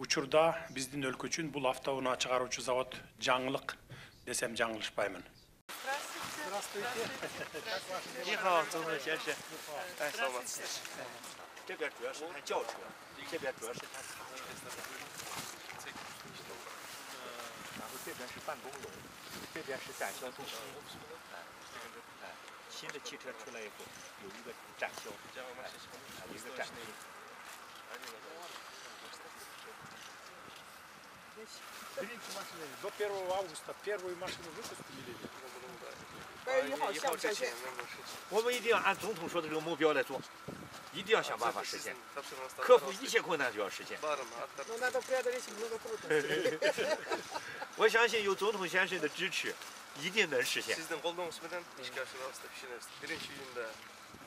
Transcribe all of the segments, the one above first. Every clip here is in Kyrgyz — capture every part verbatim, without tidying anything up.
учурда биздин өлкө үчүн бул автоунаа чыгаруучу завод жаңылык десем жаңылышпаймын. Здравствуйте. Ни хао, Цзунэ先生。哎，这边主要是看轿车，这边主要是看卡车。然后这边是办公楼，这边是展销中心。哎，新的汽车出来以后，有一个展销，有一个展厅。Берите машины. До первого августа первую машину выпустили. 八月一号下午下线。我们一定要按总统说的这个目标来做，一定要想办法实现，克服一切困难就要实现。Но надо преодолеть много трудностей. 我相信有总统先生的支持，一定能实现。 Sizden kolduğunuz meden işe aşırı pişiririz. Birinci günde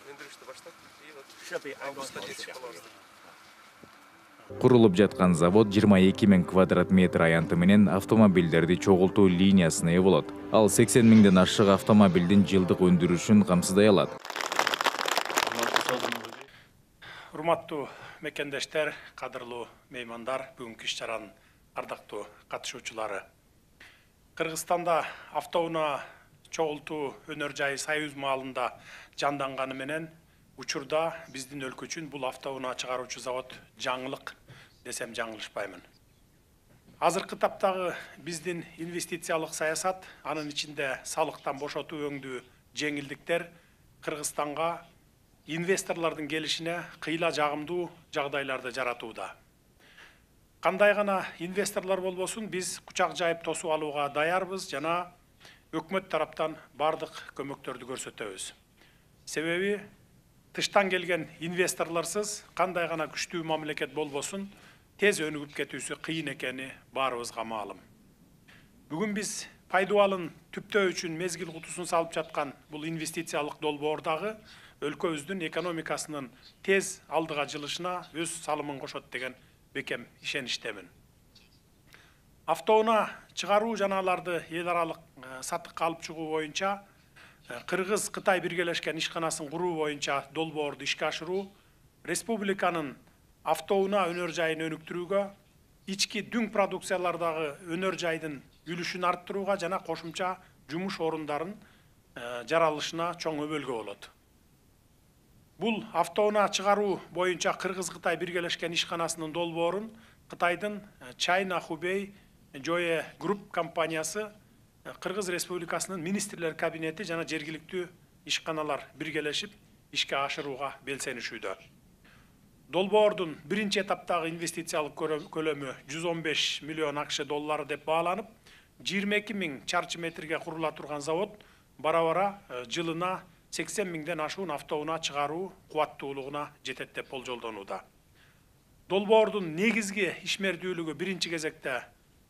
öndürüşte başladık. İyi bak. 设备安装 Avgusta 好 geçiş 是 kalarız. Курулуп жаткан завод жыйырма эки миң квадрат метр аянты менен автомобилдерди чогултуу линиясына ээ болот. Ал сексен миңден ашык автомобилдин жылдык өндүрүшүн камсыздай алат. Урматтуу мекендештер, кадырлуу меймандар, бүгүнкү иш-чаранын ардактуу катышуучулары. Кыргызстанда автоунаа чогултуу өнөр жайы Союз маалында жанданганы менен учурда биздин өлкө үчүн бул автоунаа чыгаруучу завод жаңылык десем жаңылышпаймын. Азыркы таптагы биздин инвестициялык саясат, анын ичинде салыктан бошотуу өңдүү жеңилдиктер Кыргызстанга инвесторлордун келишине кыйла жагымдуу жагдайларды жаратууда. Кандай гана инвесторлор болбосун, биз кучак жайып тосуп алууга даярбыз жана өкмөт тараптан бардык көмөктөрдү көрсөтөбүз. Себеби тыштан келген инвесторлорсыз кандай гана күчтүү мамлекет болбосун, тез өнүгүп кетүүсү кыйын экени баарыбызга маалым. Бүгүн биз пайдубалын түптөө үчүн мезгил кутусун салып жаткан бул инвестициялык долбоордагы өлкөбүздүн экономикасынын тез алдыга жылышына өз салымын кошот деген бекем ишеничтемин. Автоунаа чыгаруу жана аларды эл аралык сатыкка алып чыгуу боюнча Кыргыз-Кытай биргелешкен ишканасын куруу боюнча долбоорду ишке ашыруу республиканын автоунаа өнөр жайын өнүктүрүүгө, ички дүң продукциялардагы өнөр жайдын үлүшүн арттырууга жана кошумча жумуш орундарын жаралышына чоң өбөлгө болот. Бул автоунаа чыгаруу боюнча Кыргыз-Кытай биргелешкен ишканасынын долбоорун Кытайдын China Hubei Joye Group компаниясы Кыргыз Республикасынын министрлер кабинети жана жергиликтүү ишканалар биргелешип ишке ашырууга белсенишүүдө. Долбоордун биринчи этаптагы инвестициялык көлөмү жүз он беш миллион акш доллары деп бааланып, жыйырма эки миң чарчы метрге курула турган завод бара-бара жылына сексен миңден ашуун автоунаа чыгаруу кубаттуулугуна жетет деп болжолдонууда. Долбоордун негизги ишмердүүлүгү биринчи кезекте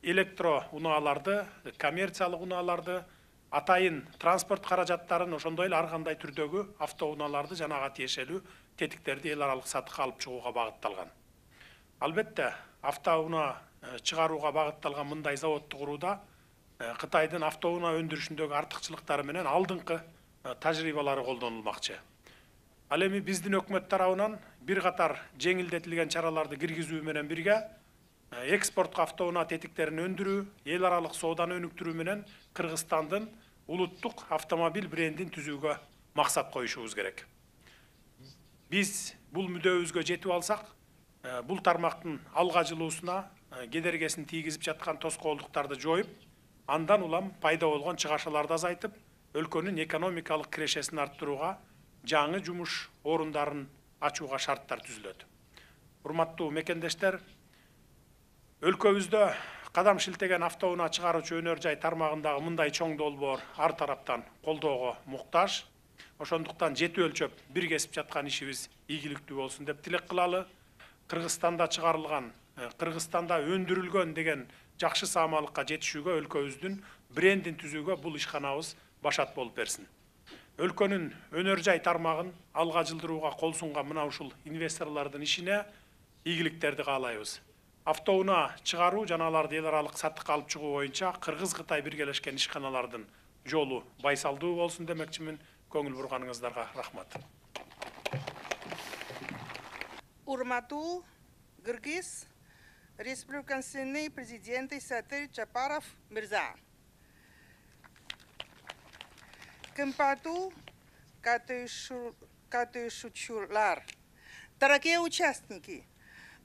электро унааларды, коммерциялык унааларды, атайын транспорт каражаттарын, ошондой эле ар кандай түрдөгү автоунааларды жана ага тиешелүү тетиктерди эл аралык сатыкка алып чыгууга багытталган. Албетте, автоунаа чыгарууга багытталган мындай заводду курууда Кытайдын автоунаа өндүрүшүндөгү артыкчылыктары менен алдыңкы тажрыйбалары колдонулмакчы. Ал эми биздин өкмөт тарабынан бир катар жеңилдетилген чараларды киргизүү менен бирге экспортко автоунаа тетиктерин өндүрүү, эл аралык сооданы өнүктүрүү менен Кыргызстандын улуттук автомобиль брендин түзүүгө максат коюшубуз керек. Биз бул мүдөөбүзгө жетип алсак, бул тармактын алга жылуусуна кедергесин тийгизип жаткан тоскоолдуктарды жоюп, андан улам пайда болгон чыгашаларды азайтып, өлкөнүн экономикалык кирешесин арттырууга, жаңы жумуш орундарын ачууга шарттар түзүлөт. Урматтуу мекендештер, өлкөбүздө кадам шилтеген автоунаа чыгаруучу өнөр жай тармагындагы мындай чоң долбоор ар тараптан колдоого муктаж. Ошондуктан жети өлчөп бир кесип жаткан ишибиз ийгиликтүү болсун деп тилек кылалы. Кыргызстанда чыгарылган, Кыргызстанда өндүрүлгөн деген жакшы саамалыкка жетишүүгө өлкөбүздүн брендин түзүүгө бул ишканабыз башат болуп берсин. Өлкөнүн өнөр жай тармагын алга жылдырууга кол сунган мына ушул инвесторлордун ишине ийгиликтерди каалайбыз. Автоунаа чыгаруу жана аларды эл аралык сатыкка алып чыгуу боюнча Кыргыз-Кытай биргелешкен ишканалардын жолу байсалдуу болсун демекчимин. Көңүл бурганыңыздарга рахмат. Урматтуу Кыргыз Республиканский президент Сатыр Жапаров Мирза. Кымпату катышучулар. Дорогие участники,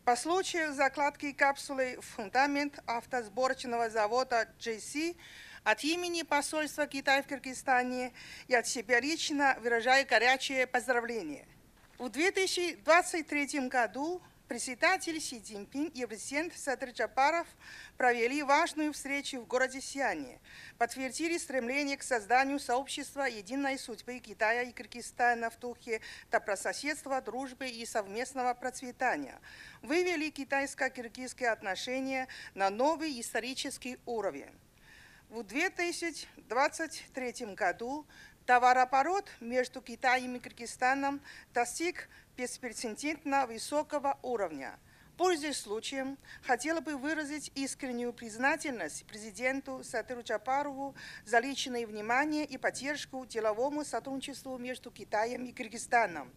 по случаю закладки капсулы в фундамент автосборочного завода джей си от имени посольства Китая в Кыргызстане и от себя лично выражаю горячее поздравление. В две тысячи двадцать третьем году председатель Си Цзиньпин и президент Сатыр Жапаров провели важную встречу в городе Сиане, подтвердили стремление к созданию сообщества единой судьбы Китая и Кыргызстана в духе добрососедства, дружбы и совместного процветания, вывели китайско-кыргызские отношения на новый исторический уровень. В две тысячи двадцать третьем году товарооборот между Китаем и Кыргызстаном достиг беспрецедентно высокого уровня. Пользуясь случаем, хотела бы выразить искреннюю признательность президенту Сатыру Жапарову за личное внимание и поддержку деловому сотрудничеству между Китаем и Кыргызстаном.